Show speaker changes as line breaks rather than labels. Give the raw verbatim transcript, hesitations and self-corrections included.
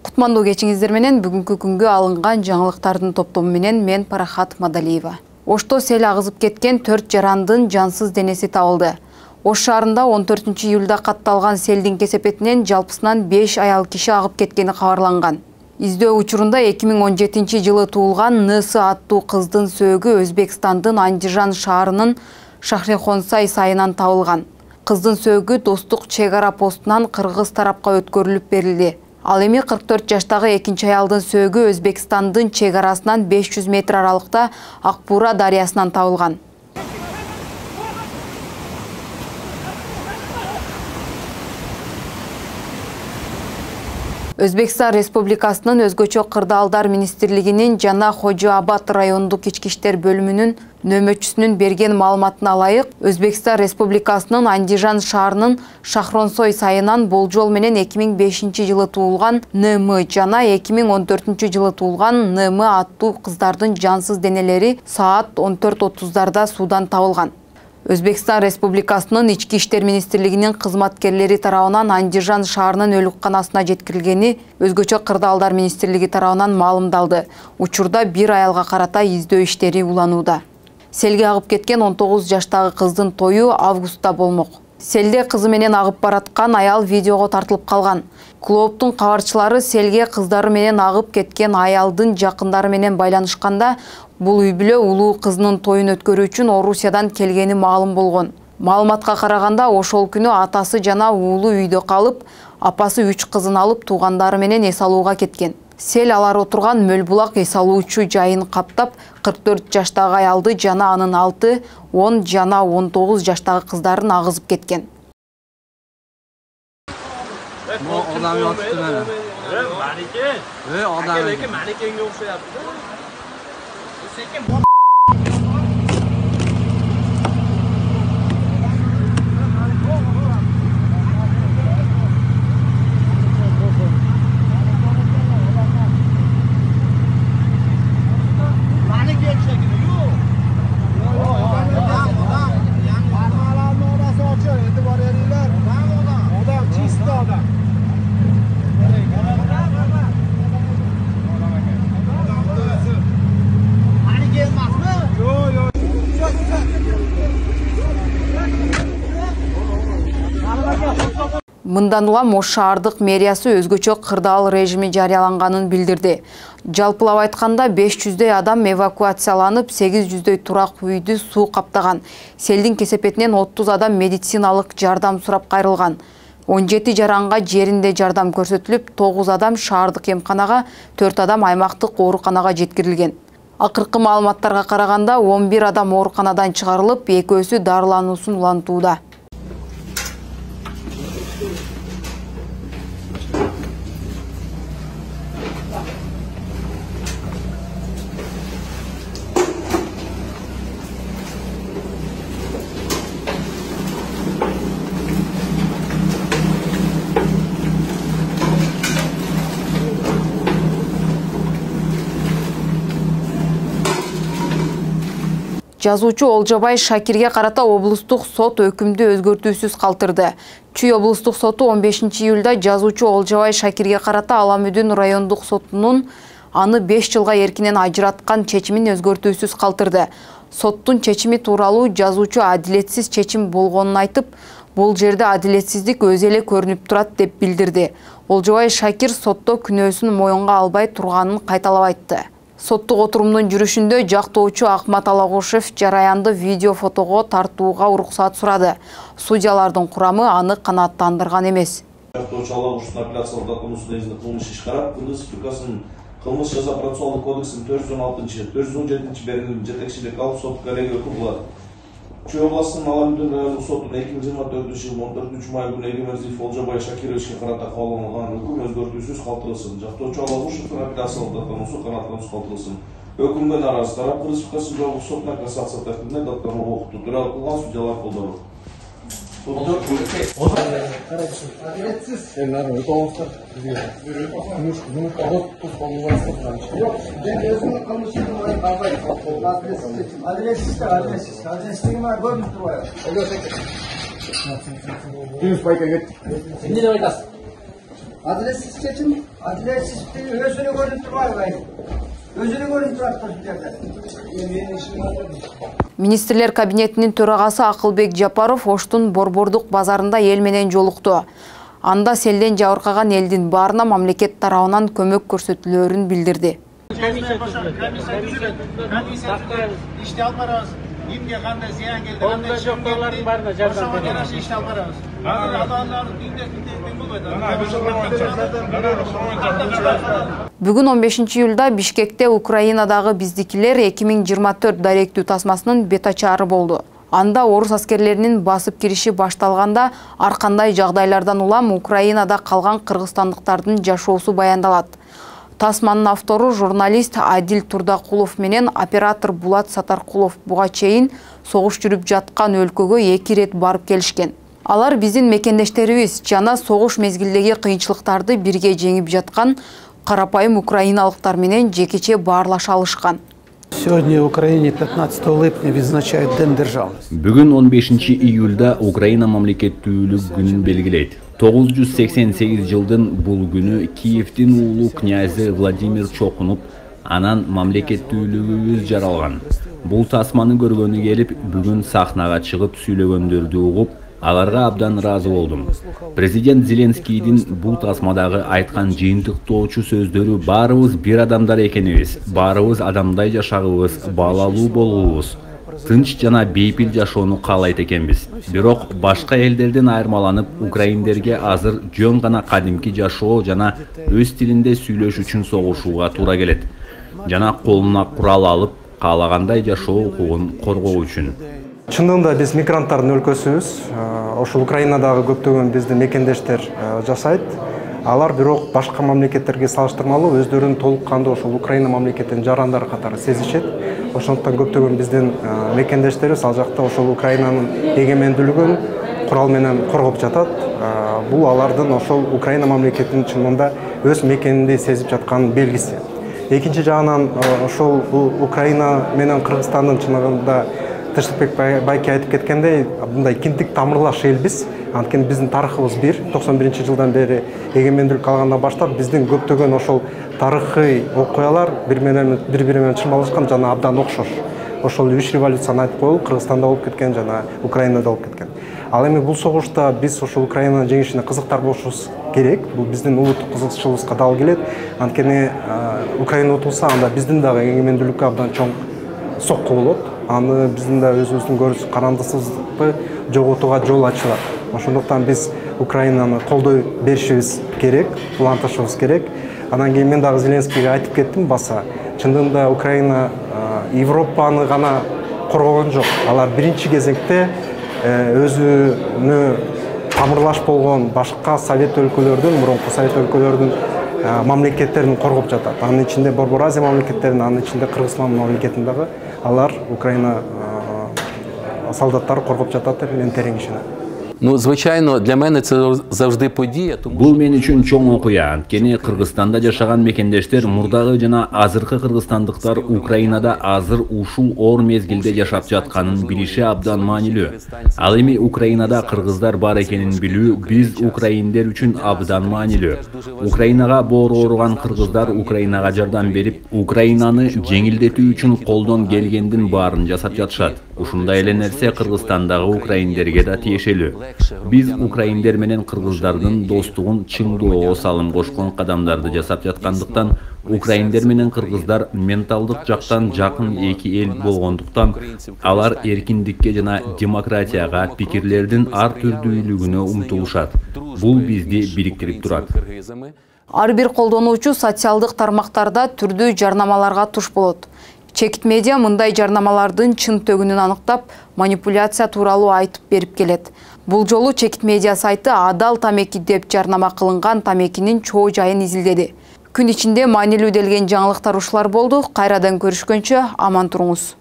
Кутмандуу кечиңиздер менен бүгүнкү күнгө алынган жаңылыктардын топтому менен мен Парахат Мадалиева. Ошто сел агызып кеткен төрт жарандын жансыз денеси табылды. Ош шаарында он төртүнчү июлда катталган селдин кесепетинен жалпысынан беш аял киши агып кеткени кабарланган. Издөө учурунда эки миң он жетинчи жылы туулган Ны.С аттуу кыздын сөөгү Өзбекстандын Андижан шаарынын Шахрехонсай сайынан табылган. Кыздын сөөгү Достук чек ара постунан кыргыз тарапка өткөрүлүп берилди. Ал эми кырк төрт жаштагы экинчи аялдын сөөгү Өзбекстандын чек арасынан беш жүз метр аралыкта Акбура дарыясынан табылган. Өзбекстан Республикасынын өзгөчө кырдаалдар министрлигинин жана Хожо Абад райондук ички иштер бөлүмүнүн нөмөтчүсүнүн берген маалыматына ылайык, Өзбекстан Республикасынын Андижан шаарынын Шахронсой сайынан болжол менен эки миң бешинчи жылы туулган Н.М жана эки миң он төртүнчү жылы туулган Н.М аттуу кыздардын жансыз денелери саат он төрт отуздарда суудан табылган. Өзбекстан Республикасынын ички иштер министрлигинин кызматкерлери тарабынан Андижан шаарынын өлүкканасына жеткирилгени өзгөчө кырдаалдар министрлиги тарабынан маалымдалды. Учурда бир аялга карата издөө иштери уланууда. Селге агып кеткен он тогуз жаштагы кыздын тою августта болмок. Селде кызы менен агып бараткан аял видеого тартылып калган. Клооптун кабарчылары селге кыздары менен агып кеткен аялдын жакындары менен байланышканда, бул үй бүлө улуу кызынын тоюн өткөрүү үчүн Орусиядан келгени маалым болгон. Маалыматка караганда, ошол күнү атасы жана уулу үйдө калып, апасы үч кызын алып туугандары менен эс алууга кеткен. Сел алар отурган мөл булак эс алуучу жайын каптап, кырк төрт жаштагы аялды жана анын алты, он жана он тогуз жаштагы кыздарын агызып кеткен. Мындан улам Ош шаардык мэриясы өзгөчө кырдаал режими жарыяланганын билдирди. Жалпылап айтканда беш жүздөй адам эвакуацияланып, сегиз жүздөй турак үйдү суу каптаган. Селдин кесепетинен отуз адам медициналык жардам сурап кайрылган. он жети жаранга жеринде жардам көрсөтүлүп, тогуз адам шаардык эмканага, төрт адам аймактык ооруканага жеткирилген. Акыркы маалыматтарга караганда он бир адам ооруканадан чыгарылып, экөөсү дарылануусун улантууда. Жазуучу Олжобай Шакирге карата облустук сот өкүмдү өзгөртүүсүз калтырды. Чүй облустук соту он бешинчи июлда жазуучу Олжобай Шакирге карата Аламүдүн райондук сотунун аны беш жылга эркинен ажыраткан чечимин өзгөртүүсүз калтырды. Соттун чечими тууралуу жазуучу адилетсиз чечим болгонун айтып, бул жерде адилетсиздик өзү эле көрүнүп турат деп билдирди. Олжобай Шакир сотто күнөөсүн моюнга албай турганын кайталап айтты. Соттук отурумдун жүрүшүндө жактоочу Акмат Алагушев жараянды видео фотого тартууга уруксат сурады. Судьялардын курамы аны канааттандырган эмес.
Жактоочу Алагушевдун апелляциялык законусунда изде кылмыш иш карап, Кыргыз Республикасынын кылмыш жаза процессуалдык кодексинин төрт жүз он алтынчы, төрт жүз он жетинчи берилим жетекчилик алып сот коллегия өкүм кылат. Чүй областынын Аламүдүн райондук сотунун эки миң жыйырма төртүнчү жылдын он төртүнчү май күнү Эгемердиев Олжобай Шакировичке карата кабыл алынган өкүм өзгөртүүсүз калтырылсын. Жактоочу Алагушевдун апелляциялык законусу канааттануусуз калтырылсын. Өкүмгө нааразы тарап Кыргыз Республикасынын жоғарғы сотуна кассация тартибинде даттануу окутту. Төралык кылган судьялар колдону.
Adretsiz. Adaletsiz seçim, adaletsizliği özünü görüntü var gayet. Özünü görüntü var Türkiye'de.
Министрлер кабинетинин төрагасы Акылбек Жапаров Оштун Борбордук базарында эл менен жолукту. Анда селден жабыркаган элдин баарына мамлекет тарабынан көмөк көрсөтүлөөрүн билдирди.
İşte alparız. Kimge kanda ziyan geldi. Onda joktorların barına jardam berебиз. İşte alparız. Adamlar günde günde
Бүгүн он бешинчи июлда Бишкекте Украинадагы биздикилер эки миң жыйырма төрт даректүү тасмасынын бет ачаары болду. Анда орус аскерлеринин басып кириши башталганда ар кандай жагдайлардан улам Украинада калган кыргызстандыктардын жашоосу баяндалат. Тасманын автору журналист Адил Турдакулов менен оператор Булат Сатаркулов буга чейин согуш жүрүп жаткан өлкөгө эки ирет барып келишкен. Алар биздин мекендештерибиз жана согуш мезгилдеги кыйынчылыктарды бирге жеңип жаткан карапайым украиналыктар менен жекече баарлаша алышкан.
Сегодня в Украине пятнадцатого липня відзначають День державності.
Бүгүн он бешинчи июлда Украина мамлекеттүүлүк күнүн белгилейт. тогуз жүз сексен сегиз жылдын бул күнү Киевдин уулу князы Владимир Чокунуп анан мамлекеттүүлүгүбүз жаралган. Бул тасманы көргөнү келип, бүгүн сахнага чыгып сүйлөгөндөрдү угуп, аларга абдан ыраазы болдум. Президент Зеленскийдин бул тасмадагы айткан жыйынтыктоочу сөздөрү баарыбыз бир адамдар экенибиз, баарыбыз адамдай жашагыбыз, баалалуу болуубуз, тынч жана бейпил жашоону каалайт экенбиз. Бирок башка элдерден айырмаланып, украиндерге азыр жөн гана кадимки жашоо жана өз тилинде сүйлөш үчүн согушууга туура келет. Жана колуна курал алып, каалагандай жашоо укугун коргоо үчүн.
Чындыгында биз мигранттардын өлкөсүбүз. Ошол Украинадагы көптөгөн биздин мекендештер жашайт. Алар бирок башка мамлекеттерге салыштырмалуу өздөрүн толук кандуу ошол Украина мамлекетинин жарандары катары сезишет. Ошондуктан көптөгөн биздин мекендештерибиз ал жакта ошол Украинанын эгемендүүлүгүн курал менен коргоп жатат. Бул алардын ошол Украина мамлекетинин чынында өз мекенинде сезип жаткан белгиси. Экинчи жагынан ошол Украина менен Кыргызстандын чыныгында Тынчтыкбек байке айтып кеткендей, мындай кинтик тамырлаш элбиз. Анткени биздин тарыхыбыз бир. токсон биринчи жылдан бери эгемендүүлүк алгандан баштап биздин көптөгөн ошол тарыхый окуялар бири-бири менен чырмалышкан жана абдан окшош. Ошол үч революцияны айтып коелу, Кыргызстанда болуп кеткен жана Украинада болуп кеткен. Ал эми бул согушта биз ошол Украинанын жеңишине кызыктар болушубуз керек. Бул биздин улуттук кызыкчылыгыбызга дал келет. Анткени Украина утулса, анда биздин дагы эгемендүүлүккө абдан чоң сокку болот. Аны биздин да өзүбүздүн көрүш карандыксыздыкты жоготууга жол ачылат. Ошондуктан биз Украинаны колдой беришибиз керек, улантышыбыз керек. Анан кийин мен дагы Зеленскийге айтып кеттим баса. Чындыгында Украина Европаны гана коргогон жок. Алар биринчи кезекте өзүнө тамырлаш болгон башка совет өлкөлөрдүн, мурунку совет өлкөлөрдүн мамлекеттерин коргоп жатат. Анын ичинде Борбор Азия мамлекеттерин, анын ичинде Кыргызстан мамлекетин дагы алар Украина солдаттары коргоп жатат деп мен терең ишенем.
Ну, звичайно, для мене це завжди подія.
Бул мен үчүн чоң окуя. Анткени Кыргызстанда жашаган мекендештер мурдагы жана азыркы кыргызстандыктар Украинада азыр ушул оор мезгилде жашап жатканын билиши абдан маанилүү. Ал эми Украинада кыргыздар бар экенин билүү биз украиндер үчүн абдан маанилүү. Украинага боору ооруган кыргыздар Украинага жардам берип, Украинаны жеңилдетүү үчүн колдон келгендин баарын жасап жатышат. Ушундай эле нерсе Кыргызстандагы украиндерге да тиешелүү. Биз украиндер менен кыргыздардын достугун чыңдоого салым кошкон кадамдарды жасап жаткандыктан, украиндер менен кыргыздар менталдык жактан жакын эки эл болгондуктан, алар эркиндикке жана демократияга, пикирлердин ар түрдүүлүгүнө умтулушат. Бул бизди бириктирип турат.
Ар бир колдонуучу социалдык тармактарда түрдүү жарнамаларга туш болот. Чекит медиа мындай жарнамалардын чын төгүнүн аныктап, манипуляция тууралуу айтып берип келет. Бул жолу Чекит медиа сайты адал тамеки деп жарнама кылынган тамекинин чоо жайын изилдеди. Күн ичинде маанилүү делген жаңылыктар ушулар болду. Кайрадан көрүшкөнчө аман туруңуз.